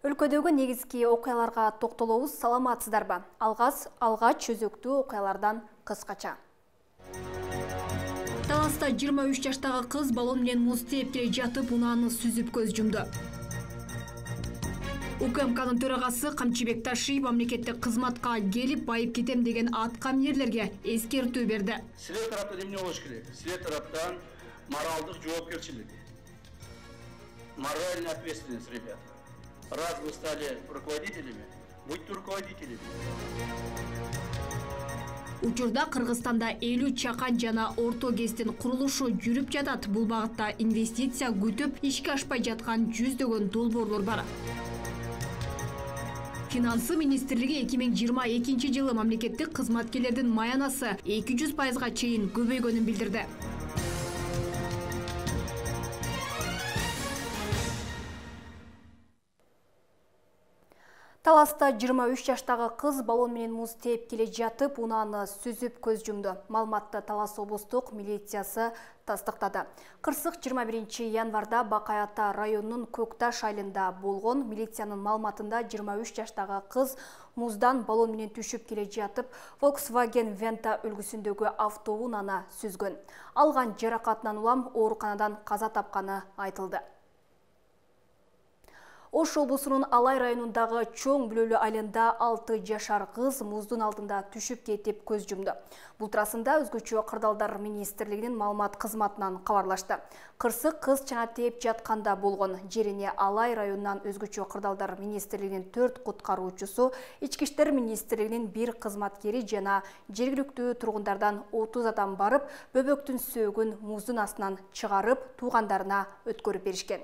Өлкөдөгү негизги окуяларга токтолобуз, саламатсыздарбы? Алгач өзөктүү окуялардан кыскача. Таласта 23 жаштагы кыз баллон менен муз тээп келе жатып, унааны сүзүп көз жумду. УКМКнын төрагасы Камчыбек Ташиев мамлекеттик кызматка келип байып кетем деген аткаминерлерге эскертүү берди. Силер тараптан эмне болуш керек? Силер тараптан моралдык жоопкерчилик, моральная ответственность, ребята. Раз вы стали руководителями, будьте руководителями. Учурда Кыргызстанда 50 чакан жана орто кесиптин курулушу жүрүп жатат. Бул багытта инвестиция күтүп, ишке ашпай жаткан жүздөгөн долбоорлор бар. Финансы министрлиги 2022 жылы мамлекеттик кызматкерлердин маянасы 200%га чейин көбөйгөнүн билдирди. Таласта 23 жаштагы кыз баллон менен муз тээп келе жатып, унааны сүзүп көз жумду. Маалыматты Талас облустук милициясы тастыктады. Кырсык 21 январда Бакай Ата районунун Көкташ айылында болгон. Милициянын маалыматында 23 жаштагы кыз муздан баллон менен түшүп келе жатып, Volkswagen Venta үлгүсүндөгү автоунааны сүзгөн. Алган жаракатынан улам ооруканадан каза тапканы айтылды. Ош облусунун Алай районундагы Чоң Бүлөлүү айылында 6 жашар кыз муздун алдында түшүп кетип көз жумду. Бул туурасында Өзгөчө кырдаалдар министрлигинин маалымат кызматынан кабарлашты. Кырсык кыз чана тээп жатканда болгон. Жерине Алай районунан Өзгөчө кырдаалдар министрлигинин 4 куткаруучусу, Ички иштер министрлигинин 1 кызматкери жана жергиликтүү тургундардан 30 адам барып, бөбөктүн сөөгүн муздун астынан чыгарып, туугандарына өткөрүп беришкен.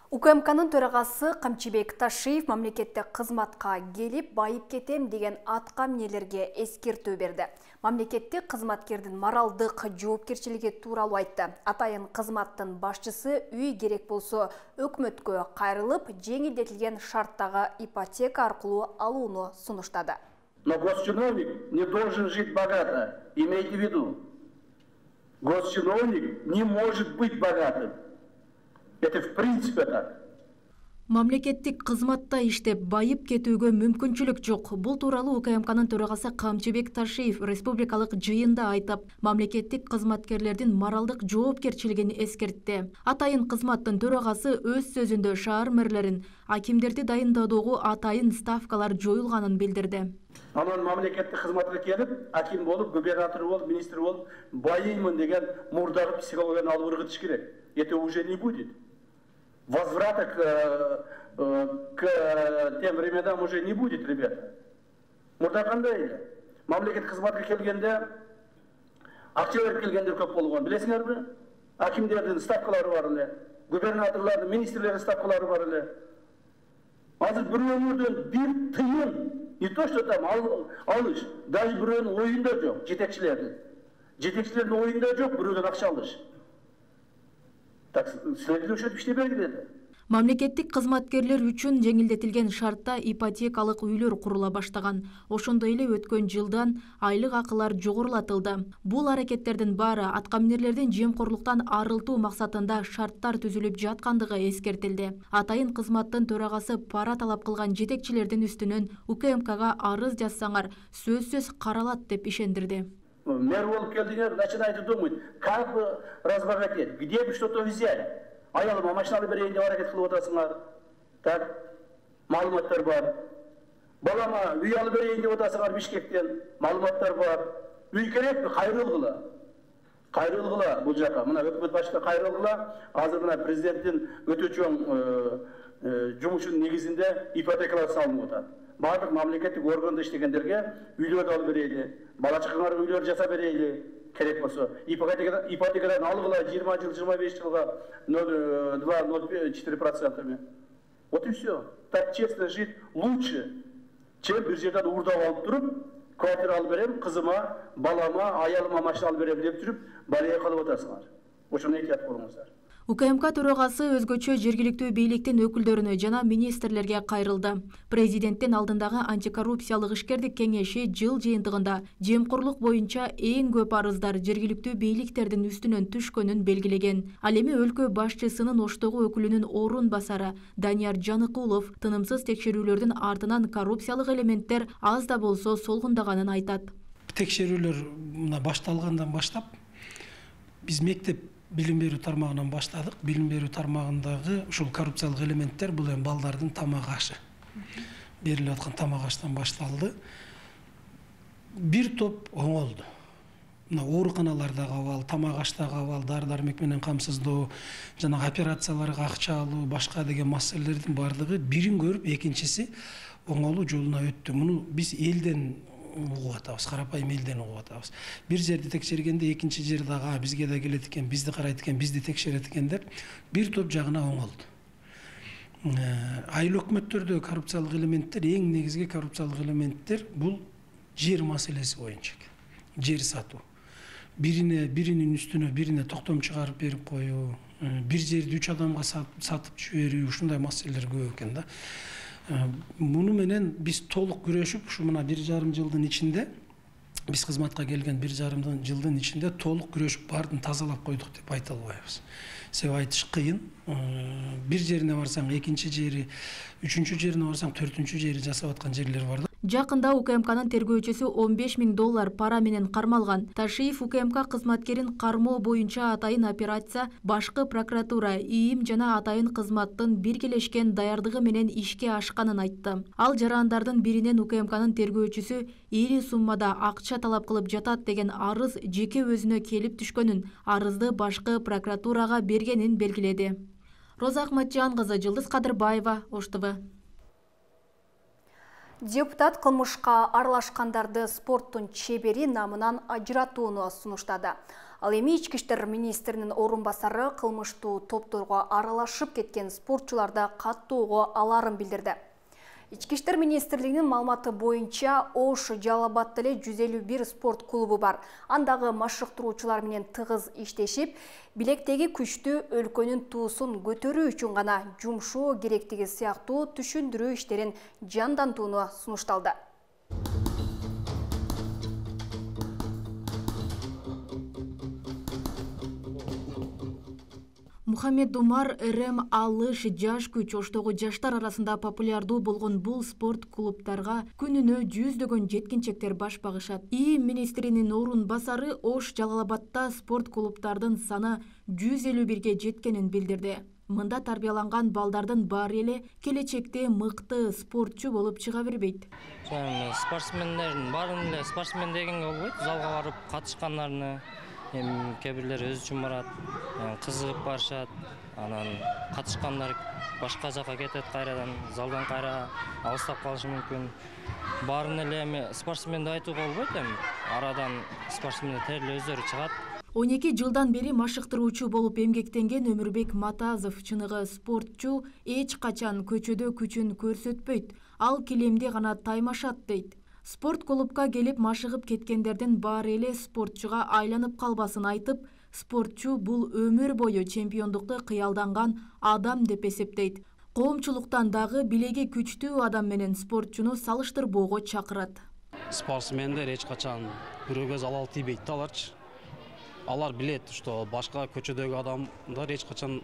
УКМКнын төрагасы Камчыбек Ташиев мамлекеттик кызматка келип байып кетем деген аткаминерлерге эскертүү берди. Мамлекеттик кызматкердин моралдык жоопкерчилиги тууралуу айтты. Атайын кызматтын башчысы үй керек болсо өкмөткө кайрылып, жеңилдетилген шарттагы ипотека аркылуу алууну сунуштады. Но госчиновник не должен жить богато. Имейте в виду. Госчиновник не может быть богатым. Это в принципе так. Мамлекеттик кызматта иштеп байып кетүүгө мүмкүнчүлүк жок. Бул тууралуу УКМКнын төрагасы Камчыбек Ташиев республикалык жыйында айтып, мамлекеттик кызматкерлердин моралдык жоопкерчилигин эскертти. Атайын кызматтын төрагасы өз сөзүндө шаар мэрлерин, акимдерди дайынdoодогу атайын ставкалар жоюлганын билдирди. Анан мамлекеттик кызматка келип, аким болуп, губернатор болуп, министр болуп, байыймын деген мурдагы психологияны алып ыргытыш керек. Это уже не будет. Возврата к тем временам уже не будет, ребята. Мурда кандай эле? Мамлекеттик кызматка келгенде, акча берип келгендер көп болгон. Билесиңерби? Акимдердин ставкалары бар эле, губернаторлордун, министрлердин ставкалары бар эле. Азыр бирөөнүн бир тыйын, не то что там алыш, даже бирөөнүн оюнда жок, жетекчилердин. Жетекчилердин оюнда жок бирөөдөн акча алыш. Так, следующий иштей бергиле. Мамлекеттик кызматкерлер үчүн жеңилдетилген шартта ипотекалык үйлөр курула баштаган. Ошондой эле өткөн жылдан айлык акылар жогорулатылды. Бул аракеттердин баары аткаминерлердин жемкорлуктан арылтуу максатында шарттар түзүлүп жаткандыгы эскертилди. Атайын кызматтын төрагасы пара талап кылган жетекчилердин үстүнөн УКМКга арыз жазсаңар, сөзсүз каралат деп ишендирди. Мэр болуп келдиңер, начинайте думать, как бы разбогатеть, где бы что-то взять. Аялыма машина алып берейин деп аракет кылып атасыңар. Так, маалыматтар бар. Балама үй алып берейин деп атасыңар Бишкектен, маалыматтар бар. Үй керекпи? Кайрылгыла. Кайрылгыла бул жака. Мына өкмөт башчыга кайрылгыла. Азыр мына президенттин өтө чоң жумушунун негизинде ипотекалар салынып атат. Бардык мамлекеттик органда иштегендерге үйлөрдү алып берейли, бала чакаңарга үйлөр жасап берейли, керек болсо. Ипотекадан алгыла 20 жыл, 25 жылга 0,2-0,4%. Вот и все. Так честно жить лучше, чем бир жерден уурдап алып туруп, квартира алып берем, кызыма, балама, аялыма машина алып берем деп жүрүп, балия кылып атасыңар. Ошону эhtiyat болуңуздар. УКМК төрагасы өзгөчө жергиликтүү бийликтин өкүлдөрүнө жана министрлерге кайрылды. Президенттин алдындагы антикоррупциялык ишкердик кеңеши жыл жыйынтыгында жемкорлук боюнча эң көп арыздар жергиликтүү бийликтердин үстүнөн түшкөнүн белгилеген. Ал эми өлкө башчысынын Оштогу өкүлүнүн орун басары Данияр Жаныкулов тынымсыз текшерүүлөрдүн артынан коррупциялык элементтер аз да болсо солгундаганын айтат. Текшерүүлөр мына башталгандан баштап биз мектеп билим берүү тармагынан баштадык. Билим берүү тармагындагы ушул коррупциялык элементтер бул эми балдардын тамак ашы. Берилип аткан тамак аштан башталды. Бир топ оңолду. Мына ооруканалардагы абал, тамак аштагы абал, дары-дармек менен камсыздоо, жана операцияларга акча алуу, башка деген маселелердин бардыгы бирин көрүп, экинчиси оңолуу жолуна өттү. Муну биз элден угуп атабыз, карапайым элден угуп атабыз. Бир жерди текшергенде экинчи жер дагы бизге да келет экен, бизди карайт экен, бизди текшерет экен деп бир топ жагына оңолду. Айыл өкмөттөрдө коррупциялык элементтер, эң негизги коррупциялык элементтер бул жер маселеси боюнча. Жер сатуу. Биринин үстүнө бирине токтом чыгарып берип коюу, бир жерди 3 адамга сатып жиберүү, ушундай маселелер көп экен да. Муну менен биз толук күрөшүп, ушу мына 1,5 жылдын ичинде, биз кызматка келген 1,5 жылдын ичинде толук күрөшүп баарын тазалап койдук деп айта албайбыз. Себеби айтыш кыйын. Бир жерине барсаң, экинчи жери, үчүнчү жерине барсаң, төртүнчү жери жасап аткан жерлер бар да. Жакында УКМКнын тергөөчүсү $15 000 пара менен кармалган. Ташиев УКМК кызматкерин кармоо боюнча атайын операция башкы прокуратура, ИИМ жана атайын кызматтын биргелешкен даярдыгы менен ишке ашканын айтты. Ал жарандардын биринен УКМКнын тергөөчүсү ири суммада акча талап кылып жатат деген арыз жеке өзүнө келип түшкөнүн, арызды башкы прокуратурага бергенин белгиледи. Роза Ахматжан кызы, Жылдыз Кадырбаева, ОШТВ. Депутат кылмышка аралашкандарды спорттун чебери намынан ажыратууну сунуштады. Ал эми Ички иштер министринин орун басары кылмыштуу топторго аралашып кеткен спортчуларды каттоого аларын билдирди. Ички иштер министрлигинин маалыматы боюнча Ош Жалал-Абадта эле 151 спорт клубу бар. Андагы машыктыруучулар менен тыгыз иштешип, билектеги күчтү өлкөнүн туусун көтөрүү үчүн гана жумшоо керектиги сыяктуу түшүндүрүү иштерин жандантууну сунушталды. Мухаммед Умар РМ алыш жаш күч Оштогу жаштар арасында популярдуу болгон бул спорт клубтарга күнүнө жүздөгөн жеткинчектер баш багышат. ИИМ министринин орун басары Ош Жалал-Абадта спорт клубтардын саны 151ге жеткенин билдирди. Мында тарбияланган балдардын баары эле келечекте мыкты спортчу болуп чыга бербейт. Спортсмендердин баарын эле спортсмен дегенге болбойт, залга барып катышкандарны кээ бирлери өзү үчүн барат, кызыгып барышат, анан катышкандар башка жака кетет, кайрадан залдан кайра алыстап калышы мүмкүн. Баарын эле спортсмен деп айтууга болбойт, арадан спортсмендер терип өздөрү чыгат. 12 жылдан бери машыктыруучу болуп эмгектенген Өмүрбек Матазов чыныгы спортчу эч качан көчөдө күчүн көрсөтпөйт, ал килемде гана таймашат дейт. Спорт клубка келип машыгып кеткендердин баары эле спортчуга айланып калбасын айтып, спортчу бул өмүр бою чемпиондукту кыялданган адам деп эсептейт. Коомчулуктан дагы билеги күчтүү адам менен спортчуну салыштырбоого чакырат. Спортсмендер эч качан бирөөгө залал тийбейт да аларчы. Алар билет, что башка көчөдөгү адамдар эч качан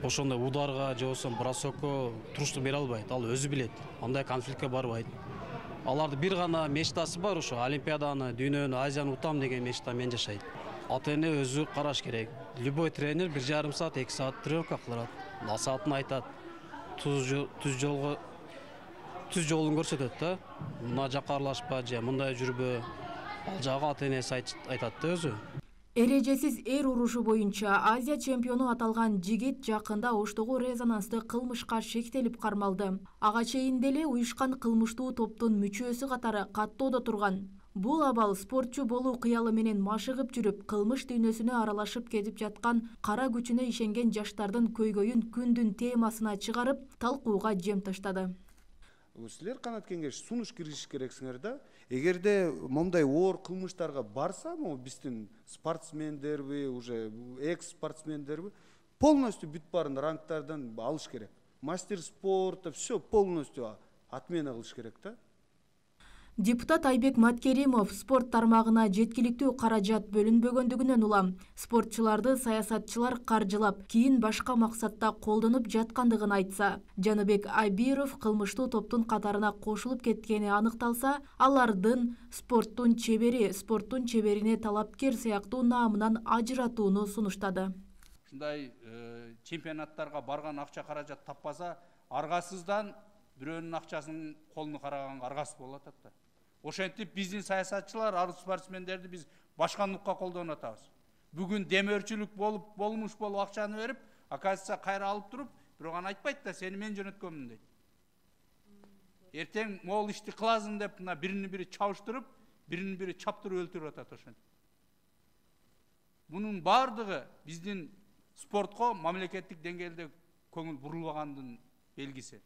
ошондой ударга же болбосо бросокко туруштук бере албайт. Ал өзү билет, андай конфликтке барбайт. Алардын бир гана мечтасы бар, ошо Олимпиаданы, дүйнөнү, Азияны утам деген мечта менен жашайт. Ата-эне өзү караш керек. Любой тренер 1,5 саат, 2 саат тренировка кылат. Насаатын айтат. Түз жолун көрсөтөт да. Мына жака аралашпа же мындай жүрбө. Ал жагы ата-энеси айтат да өзү. Эрежесиз эр урушу боюнча Азия чемпиону аталган жигит жакында Оштогу резонанстуу кылмышка шектелип кармалды. Ага чейин деле уюшкан кылмыштуу топтун мүчөсү катары каттоодо турган. Бул абал спортчу болуу кыялы менен машыгып жүрүп, кылмыш дүйнөсүнө аралашып кетип жаткан кара күчүнө ишенген жаштардын көйгөйүн күндүн темасына чыгарып, талкууга жем таштады. Силер канат кеңеш сунуш киргизиш керексиңер да. Эгерде момундай оор кылмыштарга барса, могу биздин спортсмендерби, уже экс-спортсмендерби полностью бүт баарын рангтардан алыш керек. Мастер спорта все полностью отмена кылыш керек да. Депутат Айбек Маткеримов спорт тармагына жеткиликтүү каражат бөлүнбөгөндүгүнөн улам спортчуларды саясатчылар каржылап, кийин башка максатта колдонуп жаткандыгын айтса, Жаныбек Айбиров кылмыштуу топтун катарына кошулуп кеткени аныкталса, алардын спорттун чеберине талапкер сыяктуу наамынан ажыратууну сунуштады. Ушундай чемпионаттарга барган акча каражат таппаса, аргасыздан бирөөнүн акчасын колуну караганга аргасыз болуп атат да. Ошентип биздин саясатчылар арыз спортсмендерди биз башкандыкка колдонуп атабыз. Бүгүн демөөрчүлүк болмуш болуп акчаны берип, оказывается кайра алып туруп, бирок аны айтпайт да, сени мен жөнөткөнмүн дейт. Эртең могул ишти кыласың деп мына бирини-бири чабыштырып, бирини-бири чаптырып өлтүрүп атат ошентип. Бунун бардыгы биздин спортко мамлекеттик деңгээлде көңүл бурулбагандын белгиси.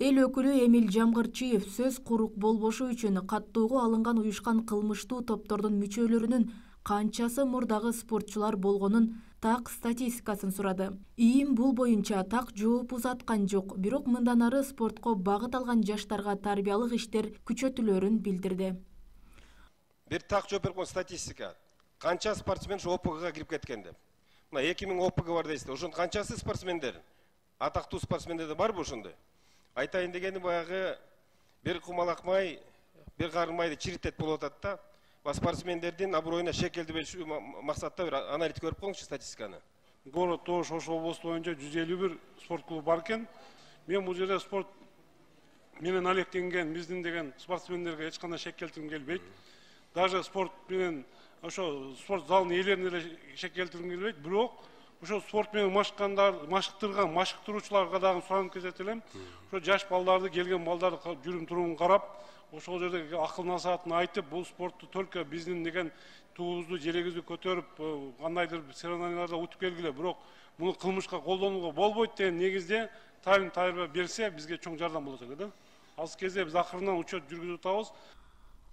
Эл өкүлү Эмил Жамгырчиев сөз курук болбошу үчүн каттоого алынган уюшкан кылмыштуу топтордун мүчөлөрүнүн канчасы мурдагы спортчулар болгонун так статистикасын сурады. ИИМ бул боюнча так жооп узаткан жок, бирок мындан ары спортко багыт алган жаштарга тарбиялык иштер күчөтүлөрүн билдирди. Бир так жооп берген статистика. Канча спортсмен ОПГга кирип кеткен деп. Мына 2000 ОПГ бар дейсиздер. Ошонун канчасы спортсмендер? Атактуу спортсмендер барбы ошондой? Айтайын дегени баягы бир кумалак май, бир карын майды чиритет болуп атат да. Спортсмендердин аброюна шек келтирбеш максатта бир аналитик көрүп коңузчу статистиканы. Город Тош Ош облусу боюнча 151 спорт клубу бар экен. Мен бул жерде спорт менен алектенген биздин деген спортсмендерге эч кандай шек келтиргим келбейт. Даже спорт менен ошо спорт залынын ээлерине эле шек келтиргим келбейт. Бирок ошо спорт менен машыктырган машыктыруучуларга дагы суранып кетет элем. Ошо жаш балдарды, келген балдарды жүрүм турумун карап, ошол жерде акыл насаатын айтып, бул спортту только биздин деген туубузду, жерегибизди көтөрүп, кандайдыр соревнованияларда утуп келгиле, бирок муну кылмышка колдонууга болбойт деген негизде тайын берсе, бизге чоң жардам болот эле да. Азыр кезде биз акырынан учет жүргүзүп атабыз.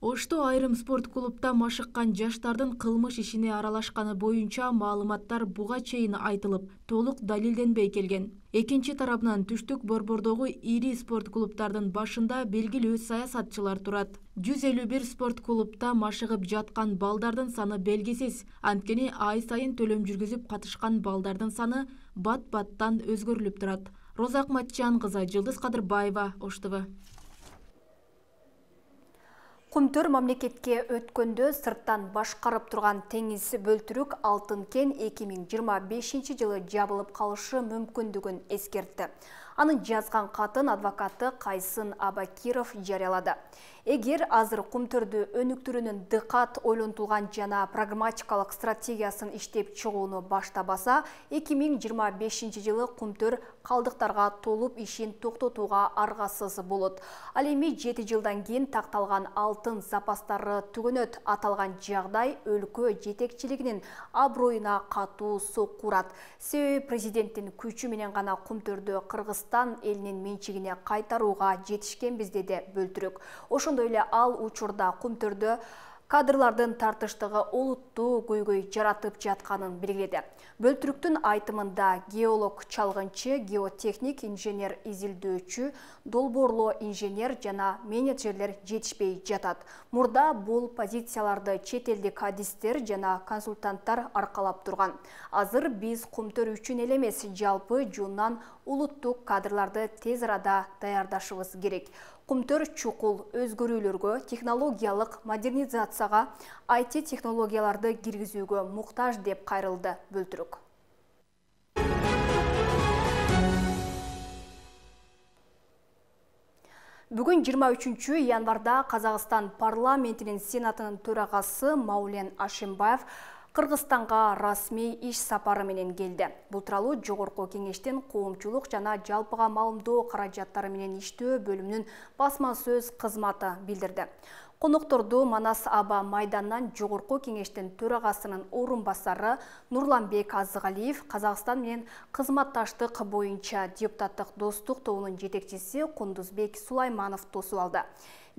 Ошто айрым спорт клубда машыккан жаштардын кылмыш ишине аралашканы боюнча маалыматтар буга чейин айтылып, толук далилденбей келген. Экинчи тарабынан түштүк борбордогу ири спорт клубтардын башында белгилүү саясатчылар турат. 151 спорт клубта машыгып жаткан балдардын саны белгисиз. Анткени ай сайын төлөм жүргүзүп катышкан балдардын саны бат-баттан өзгөрүлүп турат. Роза Акматжан кызы, Жылдыз Кадырбаева, Ош ТВ. Кумтөр мамлекетке өткөндө сырттан башкарып турган теңиз бөлтүрүк Алтын кен 2025 жылы жабылып калышы мүмкүндүгүн эскертти. Анын жазган катын адвокаты Кайсын Абакиров жарыялады. Эгер азыр Кумтөрдү өнүктүрүүнүн дыкат ойлонтулган жана прагматикалык стратегиясын иштеп чыгууну баштабаса, 2025 жылы Кумтөр калдыктарга толуп ишин токтотууга аргасыз болот. Ал эми 7 жылдан кийин такталган алтын запастары түгөнөт. Аталган жагдай өлкө жетекчилигинин аброюна катуу сокку урат. Себеби президенттин күчү менен гана Кумтөрдү Кыргызстан элинин менчигине кайтарууга жетишкенбиз, деди бөлтүрүк. Ошондой эле ал учурда Кумтөрдө кадрлардын тартыштыгы олуттуу көйгөй жаратып жатканын белгиледи. Бөлтүрүктүн айтымында геолог чалгынчы, геотехник, инженер изилдөөчү, долбоорлоо инженер жана менеджерлер жетишпей жатат. Мурда бул позицияларды чет элдик адистер жана консультанттар аркалап турган. Азыр биз Кумтөр үчүн эле эмес, жалпы жуунан улуттук кадрларды тез арада даярдашыбыз керек. Кумтөр чукул өзгөрүүлөргө, технологиялык модернизацияга, IT технологияларды киргизүүгө муктаж, деп кайрылды бөлтүрүк. Бүгүн 23 январда Казакстан парламентинин сенатынын төрагасы Маулен Ашимбаев Кыргызстанга расмий иш сапары менен келди. Бул тууралуу Жогорку кеңештин коомчулук жана жалпыга маалымдоо каражаттары менен иштөө бөлүмүнүн басма сөз кызматы билдирди. Конокторду Манас аба майданынан Жогорку кеңештин төрагасынын орун басары Нурланбек Азыгалиев, Казакстан менен кызматташтык боюнча депутаттык достук тобунун жетекчиси Кундузбек Сулайманов тосуп алды.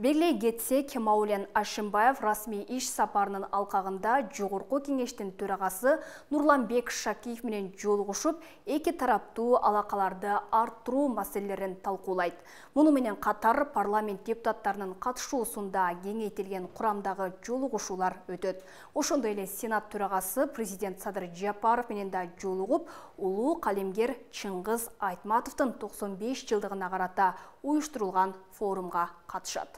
Белгилей кетсек, Маулен Ашимбаев расмий иш сапарынын алкагында Жогорку кеңештин төрагасы Нурланбек Шакиев менен жолугушуп, эки тараптуу алакаларды арттыруу маселелерин талкуулайт. Муну менен катар парламент депутаттарынын катышуусунда кеңейтилген курамдагы жолугушуулар өтөт. Ошондой эле Сенат төрагасы президент Садыр Жапаров менен да жолугуп, улуу калемгер Чыңгыз Айтматовдун 95 жылдыгына карата уюштурулган форумга катышат.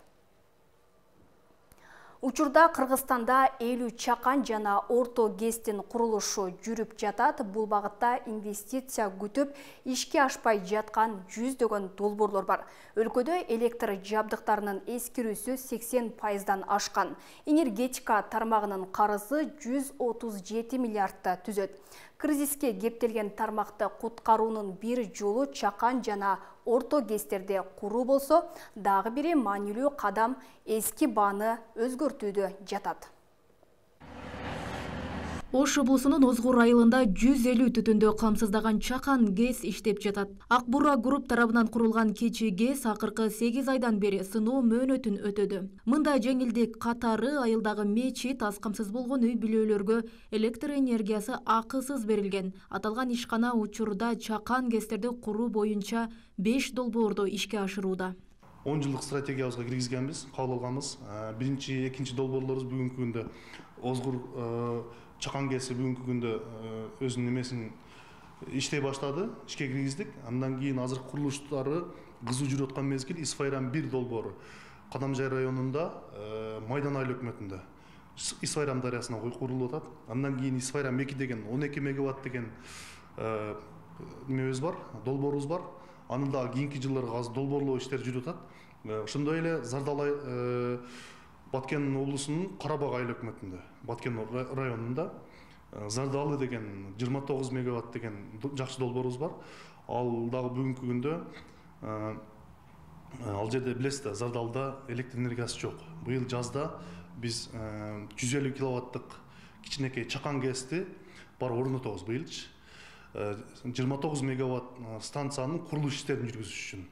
Учурда Кыргызстанда 50 чакан жана орто ГЭСтин курулушу жүрүп жатат. Бул багытта инвестиция күтүп, ишке ашпай жаткан жүздөгөн долбоорлор бар. Өлкөдө электр жабдыктарынын эскирүүсү 80% ашкан. Энергетика тармагынын карызы 137 миллиардты түзөт. Кризиске кептелген тармакты куткаруунун бир жолу чакан жана орто ГЭСтерди куруу болсо, дагы бири маанилүү кадам эски бааны өзгөртүүдө жатат. Ош облусунун Озгур айылында 150 түтүндө камсыздаган чакан ГЭС иштеп жатат. Ак Бура групп тарабынан курулган кечи ГЭС акыркы 8 айдан бери сыноо мөөнөтүн өтөдү. Мында жеңилдик катары айылдагы мечит, аз камсыз болгон үй бүлөлөргө электр энергиясы акысыз берилген. Аталган ишкана учурда чакан ГЭСтерди куруу боюнча 5 долбоорду ишке ашырууда. 10 жылдык стратегиябызга киргизгенбиз, кабыл алганбыз. Биринчи, экинчи долбоорлорубуз бүгүнкү күндө Озгур чакан ГЭСи бүгүнкү күндө өзүнүн эмесин иштей баштады, ишке киргиздик. Андан кийин азыркы курулуштары кызуу жүрүп аткан мезгил Исфайран 1 долбоору Кадамжай районунда Майдан айыл өкмөтүндө Исфайран дарыясына курулуп атат. Андан кийин Исфайран 2 деген 12 мегаватт деген немебиз бар, долбоорубуз бар. Аны да кийинки жылдарга азыр долбоорлоо иштери жүрүп атат. Ошондой эле Зардал Баткен облусунун Карабак айыл өкмөтүндө, Баткен районунда Зардалы деген 29 мегаватт деген жакшы долбоорубуз бар. Ал дагы бүгүнкү күндө ал жерде билесиз да, Зардалда электр энергиясы жок. Быйыл жазда биз 150 киловаттык кичинекей чакан ГЭСти бар орнотобуз быйылчы. 29 мегаватт станциянын курулуш иштерин жүргүзүш үчүн.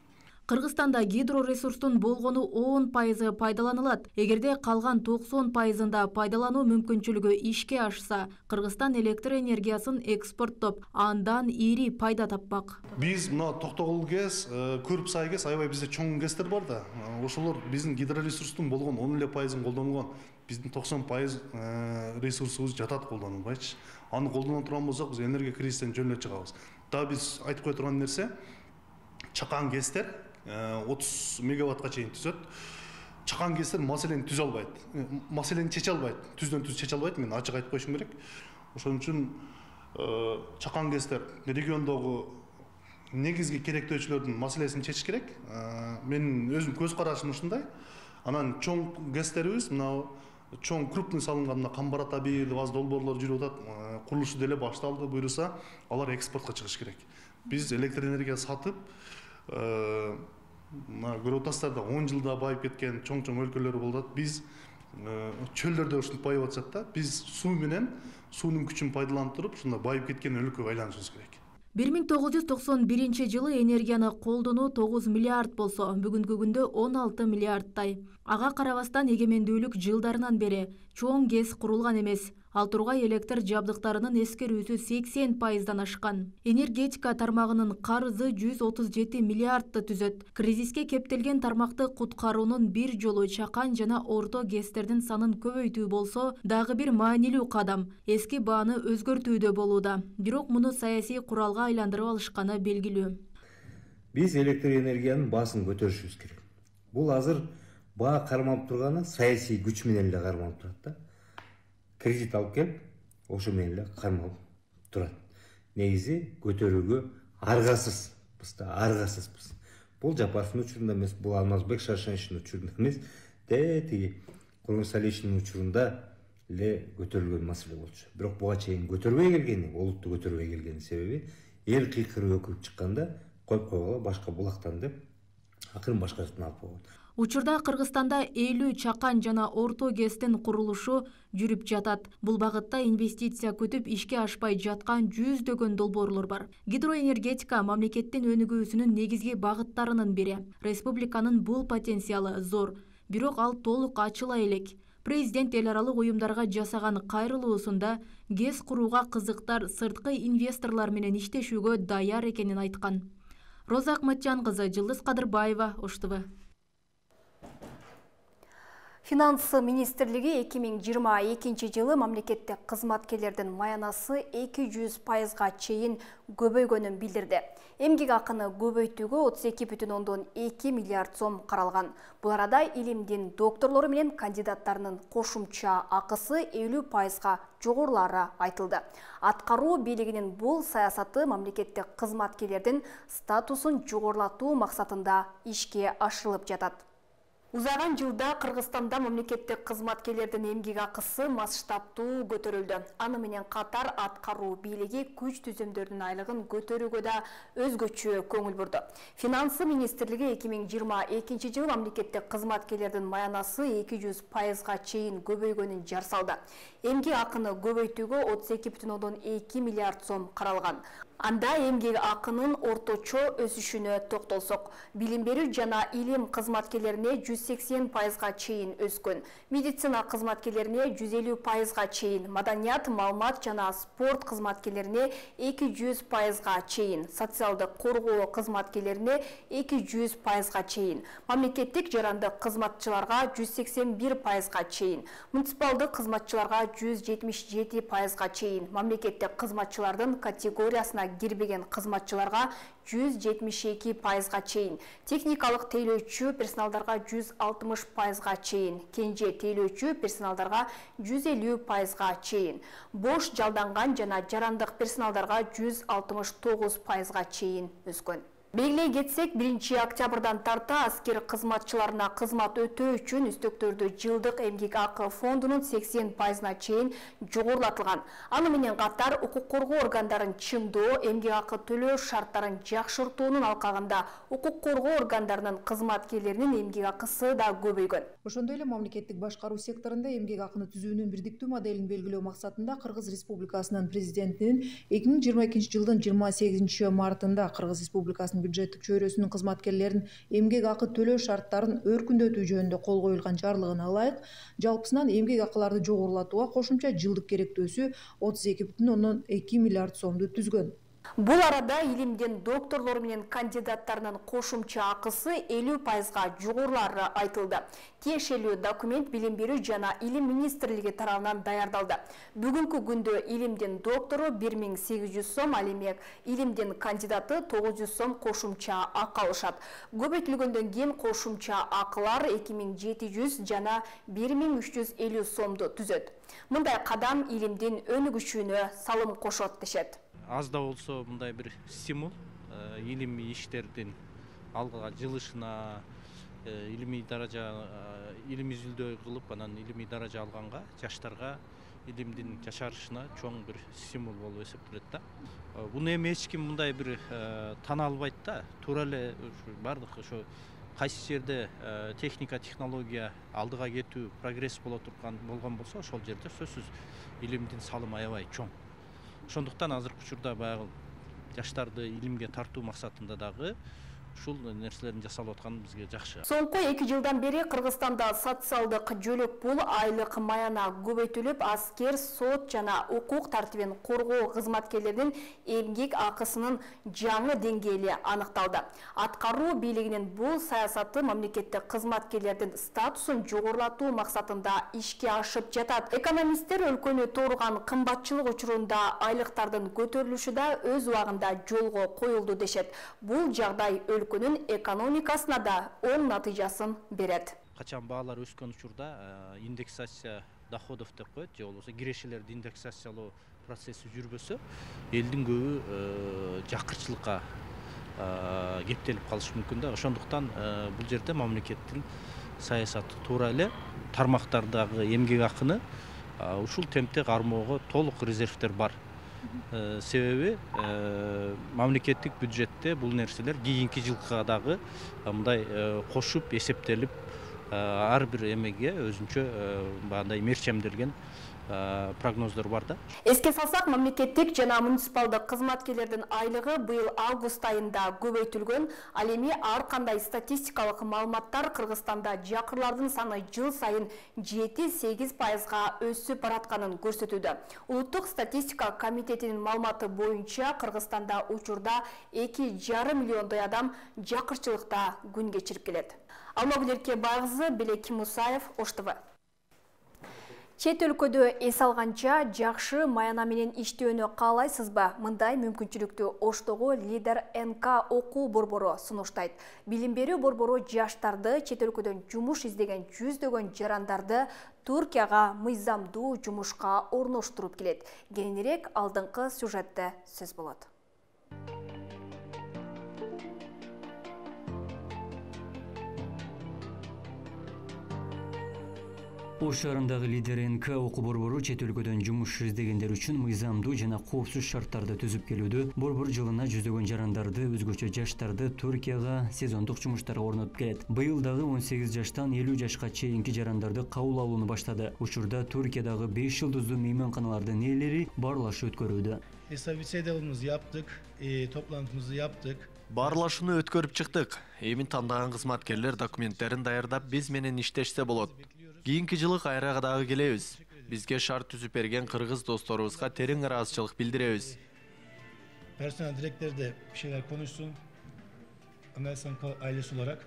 Кыргызстанда гидроресурстун болгону 10% пайдаланылат. Эгерде калган 90%-ында пайдалануу мүмкүнчүлүгү ишке ашса, Кыргызстан электр энергиясын экспорттоп, андан ири пайда таппак. Биз мына Токтогул ГЭС, Көрүпсай ГЭС, аябай бизде чоң ГЭСтер бар да. Ошолор биздин гидроресурстун болгон 10% колдонулган. Биздин 90% ресурсубуз жатат колдонулбайчы. Аны колдоно турган болсок, биз энергия кризисинен жөн эле чыгабыз. Да биз айтып кое турган нерсе, чакан ГЭСтер 30 мегаваттка чейин түзөт. Чакан ГЭСтер маселени түзө албайт. Маселени чече албайт. Түздөн түз чече албайт. Мен ачык айтып коюшум керек. Ошон үчүн чакан ГЭСтер региондогу негизги керектөөчүлөрдүн маселесин чечиш керек. Менин өзүм көз карашым ушундай. Анан чоң ГЭСтерибиз, мына чоң крупный салынган Камбарата 1, аз долбоорлор жүрүп атат. Курулушу деле башталды, буйруса, алар экспортко чыгыш керек. Биз электр энергия сатып, көрүп атасыздар да 10 жылда байып кеткен чоң өлкөлөр болот. Биз чөлдөрдө ушинтип байып атышат да. Биз суу менен суунун күчүн пайдаланып туруп, ушундай байып кеткен өлкөгө айланышыбыз керек. 1991 жылы энергияны колдонуу 9 миллиард болсо, бүгүнкү күндө 16 миллиардтай. Ага карабастан эгемендүүлүк жылдарынан бери чоң ГЭС курулган эмес. Ал тургай электр жабдыктарынын эскерүүсү 80%дан ашкан. Энергетика тармагынын карызы 137 миллиардты түзөт. Кризиске кептелген тармакты куткаруунун бир жолу чакан жана орто ГЭСтердин санын көбөйтүү болсо, дагы бир маанилүү кадам эски бааны өзгөртүүдө болууда. Бирок муну саясий куралга айландырып алышканы белгилүү. Биз электр энергиянын баасын көтөрүшүбүз керек. Бул азыр баа кармалып турганы саясий күч менен эле кармалып турат да. Кредит алып келип, ошо менен эле кармалып турат. Негизи көтөрүүгө аргасызбыз. Бул Жапаровдун учурунда эмес, бул Алмазбек Шаршеновичтин учурунда эмес, тиги Курманбек Алиевичтин учурунда эле көтөрүлгөн маселе болчу. Бирок буга чейин көтөрбөй келгени, олутту көтөрбөй келгени себеби эл кыйкырып өкүрүп чыкканда коюп койгула, башка булактан деп акырын башка жактан алып койгон. Учурда Кыргызстанда 50 чакан жана орто ГЭСтин курулушу жүрүп жатат. Бул багытта инвестиция күтүп ишке ашпай жаткан жүздөгөн долбоорлор бар. Гидроэнергетика мамлекеттин өнүгүүсүнүн негизги багыттарынын бири. Республиканын бул потенциалы зор. бирок ал толук ачыла элек. Президент эл аралык уюмдарга жасаган кайрылуусунда ГЭС курууга кызыктар сырткы инвесторлор менен иштешүүгө даяр экенин айткан. Роза Акматжан кызы, Жылдыз Кадырбаева, Ош ТВ. Финансы министрлиги 2022 жылы мамлекеттик кызматкерлердин маянасы 200%га чейин көбөйгөнүн билдирди. Эмгек акыны көбөйтүүгө 32,2 миллиард сом каралган. Бул арада илимдин докторлору менен кандидаттарынын кошумча акысы 50%га жогорулары айтылды. Аткаруу бийлигинин бул саясаты мамлекеттик кызматкерлердин статусун жогорулатуу максатында ишке ашырылып жатат. Узаган жылда Кыргызстанда мамлекеттик кызматкерлердин эмгек акысы масштабтуу көтөрүлдү. Аны менен катар аткаруу бийлиги күч түзөмдөрдүн айлыгын көтөрүүгө да өзгөчө көңүл бурду. Финансы министрлиги 2022 жылы мамлекеттик кызматкерлердин маянасы 200%га чейин көбөйгөнүн жар салды. Эмгек акыны көбөйтүүгө 32,2 миллиард сом каралган. Анда эмгек акынын орточо өсүшүнө токтолсок, билим берүү жана илим кызматкерлерине 180%га чейин өскөн, медицина кызматкерлерине 150%га чейин, маданият, маалымат жана спорт кызматкерлерине 200%га чейин, социалдык коргоо кызматкерлерине 200%га чейин, мамлекеттик жарандык кызматчыларга 181%га чейин, муниципалдык кызматчыларга 177%га чейин, мамлекеттик кызматчылардын категориясына кирбеген кызматчыларга 172%га чейин, техникалык тейлөөчү персоналдарга 160%га чейин, кенже тейлөөчү персоналдарга 150%га чейин, бош жалданган жана жарандык персоналдарга 169%га чейин өскөн. Белгилей кетсек, 1 октябрдан тарта аскер кызматчыларына кызмат өтөө үчүн үстөктөрдү жылдык эмгек акы фондунун 80%на чейин жогорулатылган. Аны менен катар укук коргоо органдарын чыңдоо, эмгек акы төлөө шарттарын жакшыртуунун алкагында укук коргоо органдарынын кызматкерлеринин эмгек акысы да көбөйгөн. Ошондой эле мамлекеттик башкаруу секторунда эмгек акыны түзүүнүн бирдиктүү моделин белгилөө максатында Кыргыз Республикасынын президентинин 2022 жылдын 28 мартында Кыргыз Республикасынын бюджеттик чөйрөсүнүн кызматкерлерин эмгек акы төлөө шарттарын өркүндөтүү жөнүндө кол коюлган жарлыгына ылайык жалпысынан эмгек акыларды жогорулатууга кошумча жылдык керектөөсү 32,2 миллиард сомду түзгөн. Бул арада илимдин докторлору менен кандидаттарынын кошумча акысы 50%га жогорулары айтылды. Тиешелүү документ билим берүү жана илим министрлиги тарабынан даярдалды. Бүгүнкү күндө илимдин доктору 1800 сом, ал эми илимдин кандидаты 900 сом кошумча акы алышат. Көбөйтүлгөндөн кийин кошумча акылар 2700 жана 1350 сомду түзөт. Мындай кадам илимдин өнүгүшүнө салым кошот дешет. Аз да болсо мындай бир стимул илимий иштердин алга жылышына, илимий даража, илимий изилдөө кылып, анан илимий даража алганга, жаштарга илимдин жашарышына чоң бир стимул болуп эсептелет да. Буну эми эч ким мындай бир тана албайт да. Туура эле бардык ошо кайсы жерде техника, технология алдыга кетүү, прогресс болгон болсо, ошол жерде сөзсүз илимдин салымы аябай чоң. Ошондуктан азыркы учурда баягы жаштарды илимге тартуу максатында дагы ушул нерселердин жасалып атканы бизге жакшы. Соңку 2 жылдан бери Кыргызстанда социалдык жөлөк пул айлык маяна көбөйтүлүп, аскер, сот жана укук тартибин коргоо кызматкерлеринин эмгек акысынын жаңы деңгээли аныкталды. Аткаруу бийлигинин бул саясаты мамлекеттик кызматкерлердин статусун жогорулатуу максатында ишке ашып жатат. Экономисттер өлкөнү торган кымбатчылык учурунда айлыктардын көтөрүлүшү да өз убагында жолго коюлду дешет. Бул жагдай өлкөнүн экономикасына да оң натыйжасын берет. Качан баалар өскөн учурда индексация доходов деп коет, же болбосо кирешелерди индексациялоо процесси жүрбөсө, элдин көбү жакырчылыкка кептелип калышы мүмкүн да. Ошондуктан бул жерде мамлекеттин саясаты туура эле тармактардагы эмгек акыны ушул темпте кармоого толук резервдер бар. Себеби мамлекеттик бюджетте бул нерселер кийинки жылга дагы мындай кошуп эсептелип ар бир эмеге өзүнчө баягындай мерчемделген прогноздор бар да. Эске салсак, мамлекеттик жана муниципалдык кызматкерлердин айлыгы быйыл август айында көбөйтүлгөн. Ал эми ар кандай статистикалык маалыматтар Кыргызстанда жакырлардын саны жыл сайын 7-8%га өсүп баратканын көрсөтүүдө. Улуттук статистика комитетинин маалыматы боюнча Кыргызстанда учурда 2,5 миллиондой адам жакырчылыкта күн кечирип келет. Алмагүл Эркебайкызы, Белек Мусаев, Ош ТВ. Чет өлкөдө эс алганча жакшы маяна менен иштөөнү каалайсызбы? Мындай мүмкүнчүлүктү Оштогу Лидер НК окуу борбору сунуштайт. Билим берүү борбору жаштарды, чет өлкөдөн жумуш издеген жүздөгөн жарандарды Туркияга мыйзамдуу жумушка орноштуруп келет. Кененирээк алдыңкы сюжетте сөз болот. Ош шаарындагы Лидер НК окуу борбору чет өлкөдөн жумуш издегендер үчүн мыйзамдуу жана коопсуз шарттарды түзүп келүүдө. Борбор жылына жүздөгөн жарандарды, өзгөчө жаштарды Туркияга сезондук жумуштарга орнотуп келет. Быйыл дагы 18 жаштан 50 жашка чейинки жарандарды кабыл алууну баштады. Учурда Туркиядагы 5 жылдыздуу мейманканалардын ээлери баарлашуу өткөрүүдө. Собеседованиemizni yaptık, toplantımızı yaptık. Баарлашууну өткөрүп чыктык. Эми тандаган кызматкерлер документтерин даярдап биз менен иштешсе болот. Кийинки жылы кайра дагы келебиз. Бизге шарт түзүп берген кыргыз досторубузга терең ыраазычылык билдиребиз. Personel direktör de bir şeyler konuşsun. Amel Sankla ailesi olarak.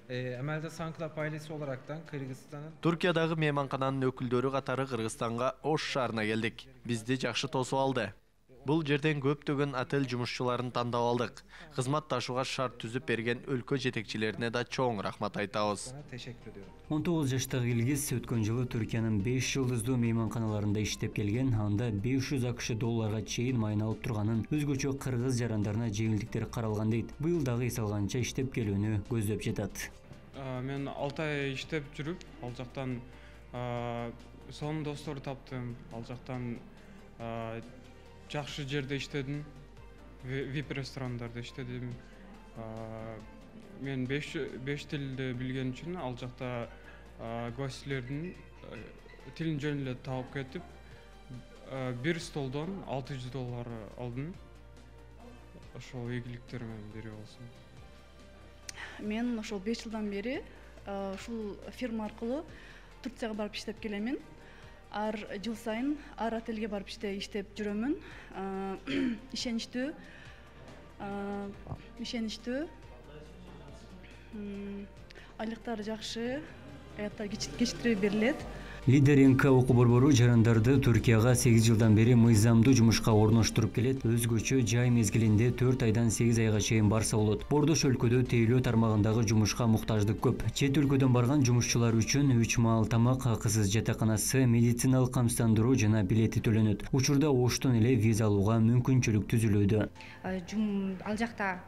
Evet. Amelde Sankla ailesi olaraktan Kırgızistan'ın Туркиядагы мейманкананын өкүлдөрү катары Кыргызстанга Ош шаарына келдик. Бизди жакшы тосуп алды. Бул жерден көптөгөн отель жумушчуларын тандап алдык. Кызматташууга шарт түзүп берген өлкө жетекчилерине да чоң рахмат айтабыз. 19 жаштагы Илгиз өткөн жылы Түркиянын 5 жылдыздуу мейманканаларында иштеп келген, анда 500 АКШ долларга чейин майын алып турганын, өзгөчө кыргыз жарандарына жеңилдиктер каралган дейт. Быйыл дагы эс алганча иштеп келүүнү көздөп жатат. Men 6 ay иштеп жүрүп, ал жактан сонун достор таптым, ал жактан жакшы жерде иштедим, VIP ресторандарда иштедим. Мен 5 тилди билген үчүн ал жакта гостьлердин тилин жөн эле таап кетип, бир столдон $600 алдым. Ошол ийгиликтер менен берип алсам. Мен ошол 5 жылдан бери ушул фирма аркылуу Турцияга барып иштеп келемин. Ар жыл сайын ар отелге барып иштеп жүрөмүн. Ишеничтүү айлыктар жакшы, аяттар кечиктирип берилет. Лидер НК окуу борбору жарандарды Туркияга 8 жылдан бери мыйзамдуу жумушка орноштуруп келет. Өзгөчө жай мезгилинде 4 айдан 8 айга чейин барса болот. Бордош өлкөдө тейлөө тармагындагы жумушка муктаждык көп. Чет өлкөдөн барган жумушчулар үчүн 3 маал тамак, акысыз жатаканасы, медициналык камсыздандыруу жана билети төлөнөт. Учурда Оштон эле виза алууга мүмкүнчүлүк түзүлүүдө. Ал жакта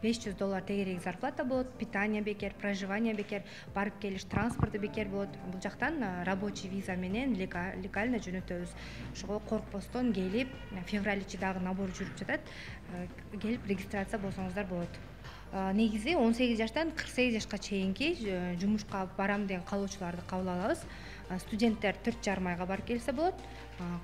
$500 тегерек зарплата болот, питание бекер, проживание бекер, барып келиш транспорты бекер болот. Бул жактан рабочий виза менен легально жөнөтөбүз. Ошого коркпостон келип, февраль-чи дагы набор жүрүп жатат. Келип регистрация болсоңуздар болот. Негизи 18 жаштан 48 жашка чейинки жумушка барам деген каалоочуларды кабыл алабыз. Студенттер 4,5 айга барып келсе болот.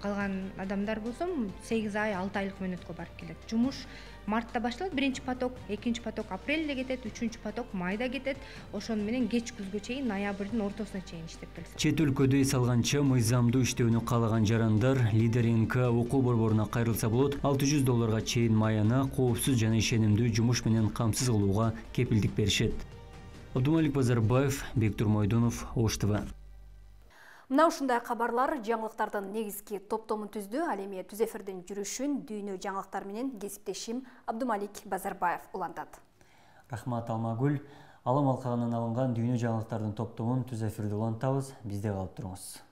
Калган адамдар болсо 8 ай, 6 айлык мөөнөткө барып келет. Жумуш мартта башталат, биринчи поток, экинчи поток апрелде кетет, үчүнчү поток майда кетет. Ошону менен кеч күзгө чейин, ноябрдын ортосуна чейин иштеп келсе. Чет өлкөдө эс алганча мыйзамдуу иштөөнү каалаган жарандар Лидер НК окуу борборуна кайрылса болот. $600 чейин маяна, коопсуз жана ишенимдүү жумуш менен камсыз кылууга кепилдик беришет. Абдумалик Базарбаев, Бектур Мойдонов, Ош ТВ. Мына ушундай кабарлар жаңылыктардын негизги топтомун түздү. Ал эми түз эфирдин жүрүшүн дүйнө жаңылыктары менен кесиптешим Абдумалик Базарбаев улантат. Рахмат Алмагүл. Алым алкагынан алынган дүйнө жаңылыктардын топтомун түз эфирде улантабыз. Бизде калып туруңуз.